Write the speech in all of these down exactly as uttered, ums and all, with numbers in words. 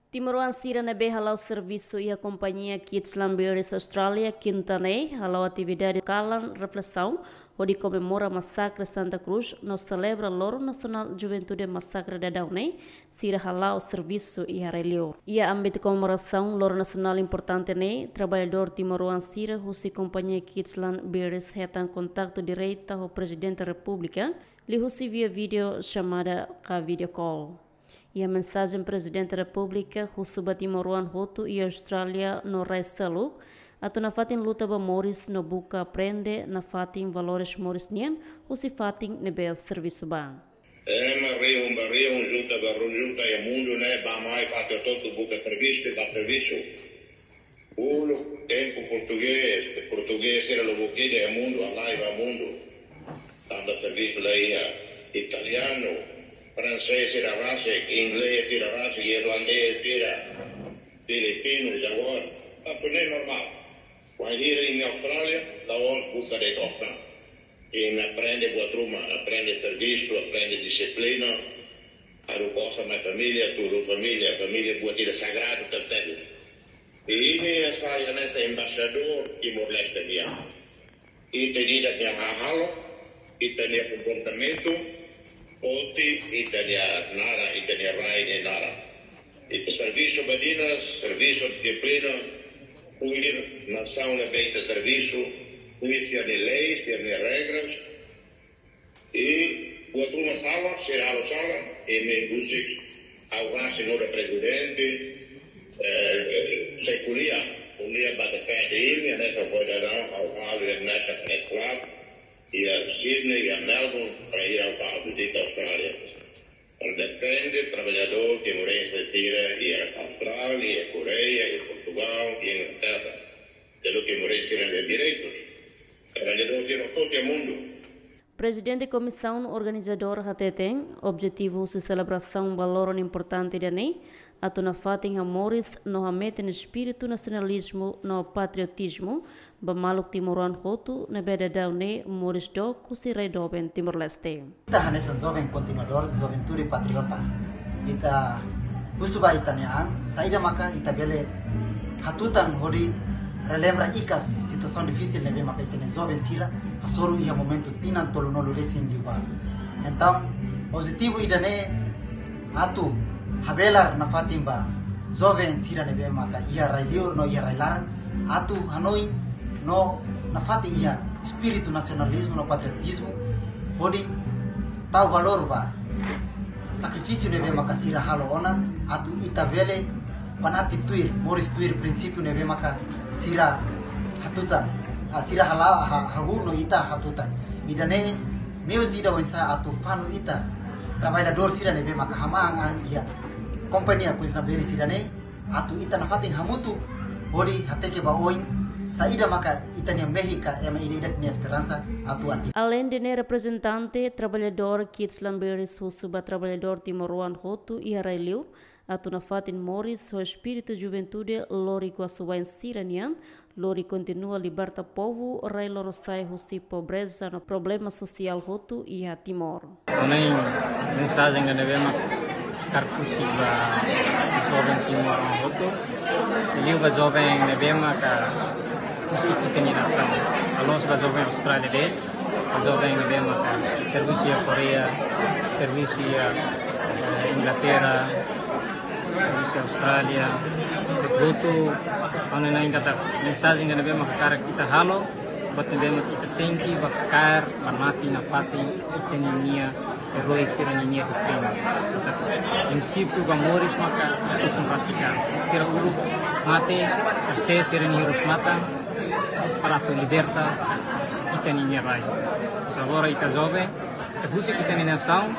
Timoroan sira ne'ebé hala'o servisu iha kompañia Kids Lambiris Australia, kinta ne'e, hala'o atividade kalan reflesaun, hodi komemora masakre Santa Cruz, no selebra Loron Nasionál Juventude masakre daudaun ne'e, sira hala'o servisu iha rai-liur. Iha ámbitu komemorasaun Loron Nasionál importante ne'e, traballadór timoroan sira husi kompañia Kids Lambiris hetan kontaktu direta ho Prezidente Repúblika, liuhusi via vídeo xamada ka video call. Iha mensajen Prezidente Repúblika, husu ba timoroan hotu iha Austrália no rai seluk, atu nafatin luta ba moris no buka aprende nafatin valores moris nian, husi fatin ne'ebé servisu ba. Ema rihun ba rihun, junta ba ru-, junta iha mundu ne'e, bá mai fatin hotu buka servisu, bá servisu. Uluk tempu portugés, portugés sira lubuk ida iha mundu, halai ba mundu. Tanba servisu la iha. Italianu, fransés sira rasik, inglés sira rasik, irlandés sira, filipinu, Jaguar. Atu ne'e normál. Wainhira imi Austrália, la'ós buka de'it osan. Imi aprende buat ruma, aprende servisu, aprende dixiplina. Haruka osan mai família, tulun família, família buat ida sagradu tebetebes. I imi sai hanesan embaixadór Timor-Leste nian. Ita-nia hahalok, ita-nia komportamentu, foti ita-nia naran, ita-nia rai nia naran. Ita servisu ba di'ak, servisu dixiplina, kuida nasaun ne'ebé ita servisu, kuida sira-nia leis, sira-nia regras, i buat ruma sala, sira halo sala, imi husik, ha'u rasik nu'udar prezidente, eh, sei ko'alia, ko'alia ba defende imi, hanesan foin daudaun, ha'u halo iha National Press Club, iha Sydney, iha Melbourne, para iha ha'u halo di Austrália. Para defende traballadór timorense sira iha Austrália, iha Koreia, iha Portugal, iha Inglaterra. Pelo timorense sira-nia direitus. Traballadór sira hotu iha mundu. Prezidente Komisaun Organizadora hateten, objetivu husi selebrasaun ba loron importante ida-ne'e, atu nafatin hamoris no hametin espíritu nasionalizmu no patriotizmu, ba maluk timoroan hotu ne'ebé daudaun ne'e moris dook husi rai doben Timor-Leste. Ita hanesan joven kontinuadór, juventude patriota. Ita husu ba ita-nia an, saida maka ita bele hatutan hodi relembra ikas situasaun difisil ne'ebé maka ita-nia joven sira hasoru iha momentu tinan tolunulu resin liubá. Entaun, objetivu ida-ne'e atu habelar nafatin ba joven sira ne'ebé maka iha rai-liur no iha rai-laran, atu hanoin no nafatin iha espíritu nasionalizmu no patriotizmu, hodi tau valór ba sakrifísiu ne'ebé maka sira halo ona, atu ita bele banati tuir, moris tuir prinsípiu ne'ebé maka sira hatutan, ah, sira hala-, ha-, hahú no ita hatutan. Ida-ne'e meius ida oinsá atu fanu ita traballadór sira ne'ebé maka hamahan an iha kompañia Kids Lambiris ida-ne'e, atu ita nafatin hamutuk hodi hateke ba oin saida maka ita-nia mehi ka ema ida-idak nia esperansa atu atinji. Aleinde ne'e, reprezentante traballadór Kids Lambiris husu ba traballadór timoroan hotu iha rai-liur, atu nafatin moris ho espíritu juventude lori kuasu wain sira-nian, lori kontinua liberta povu rai lorosa'e husi pobreza no problema sosiál hotu iha Timor. Ha'u-nia mensajen ida ne'ebé mak hakarak husik ba joven timoroan hotu, liu ba joven ne'ebé maka husik ita-nia nasaun. La'ós ba joven Austrália de'it, ba joven ne'ebé maka servisu iha Koreia, servisu iha, eh, Inglaterra, servisu Austrália, hotu-hotu, ha'u hanoin katak mensajen ida ne'ebé mak hakarak ita halo, buat ne'ebé mak ita tenke ba kaer, ba nafatin, nafatin ita-ninia erói sira-ninia doutrina. Katak prinsípiu ba moris maka ita ukun rasik an. Sira uluk mate, sira sa'e sira-nia hirus-matan, para atu liberta ita-ninia rai. Mas agora ita joven, ita husik ita-nia nasaun,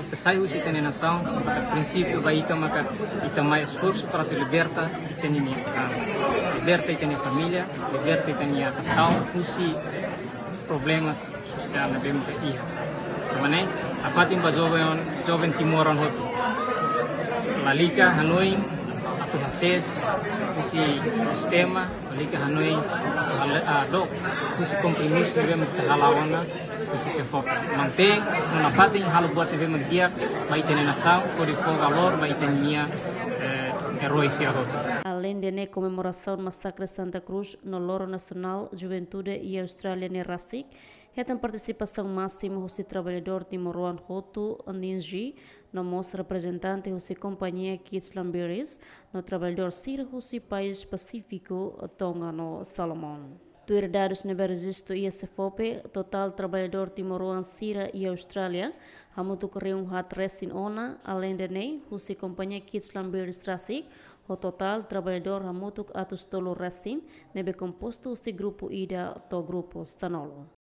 ita sai husi ita-nia nasaun, maka prinsípiu ba ita maka ita mai esforsu para atu liberta ita-ninia, ah, liberta ita-nia família, liberta ita-nia nasaun husi problemas sosiál ne'ebé maka iha. Tanba ne'e, nafatin ba joven, joven timoroan hotu. Lalika hanoin atu hasees husi sistema, lalika hanoin atu hale-, ah, dook husi kompromisu ne'ebé maka hala'o ona husi SEFOPE. Mantein no nafatin halo buat ne'ebé mak di'ak ba ita-nia nasaun, hodi fó valór ba ita-nia, eh, Aleinde ne'e, komemorasaun masakre Santa Cruz no Loron Nasionál Juventude iha Austrália ne'e rasik hetan partisipasaun másimu husi traballadór timoroan hotu, ninji, no mós reprezentante husi kompañia Kids Lambiris no traballadór sira husi país Pasífiku, Tonga no Salomon. Tuir dadus ne'ebé rejistu iha SEFOPE, totál traballadór timoroan sira iha Austrália hamutuk rihun haat resin ona. Aleinde ne'e, husi kompañia Kids Lambiris rasik ho totál traballadór hamutuk atus tolu resin, ne'ebé kompostu husi grupu ida to'o grupu sanulu.